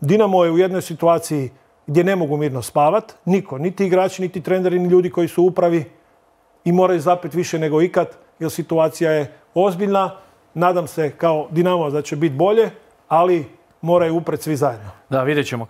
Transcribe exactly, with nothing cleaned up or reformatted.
Dinamo je u jednoj situaciji gdje ne mogu mirno spavati. Niko, niti igrači, niti treneri, ni ljudi koji su u upravi i moraju zapet više nego ikad, jer situacija je ozbiljna. Nadam se kao Dinamo da će biti bolje, ali moraju upret svi zajedno. Da, vidjet ćemo.